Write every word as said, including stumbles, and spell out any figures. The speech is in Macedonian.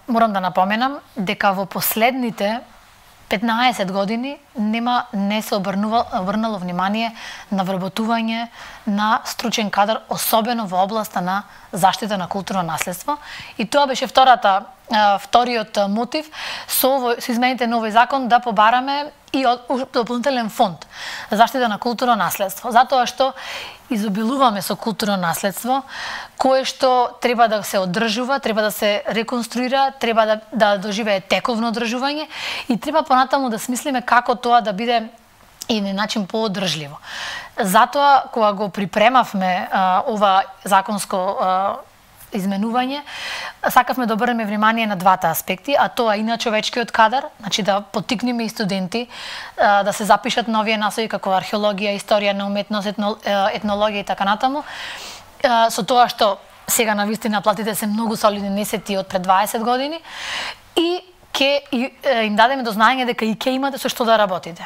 морам да напоменам дека во последните петнаесет години нема не се обрнува, обрнало внимание на вработување на стручен кадар, особено во областа на заштита на културно наследство. И тоа беше втората, вториот мотив со, со измените на овој закон да побараме и дополнителен фонд за заштита на културно наследство. Затоа што изобилуваме со културно наследство, кое што треба да се одржува, треба да се реконструира, треба да, да доживее тековно одржување и треба понатаму да смислиме како тоа да биде и на начин поодржливо. Затоа, кога го припремавме а, ова законско а, изменување, сакавме да обрнеме внимание на двата аспекти, а тоа и на човечкиот кадар, значи да поттикнеме и студенти а, да се запишат на овие насови како археологија, историја на уметност, етно, етнологија и така натаму, а, со тоа што сега на вистина платите се многу солидни, не се тие од пред дваесет години, и ќе им дадеме до знаење дека и ќе имате со што да работите.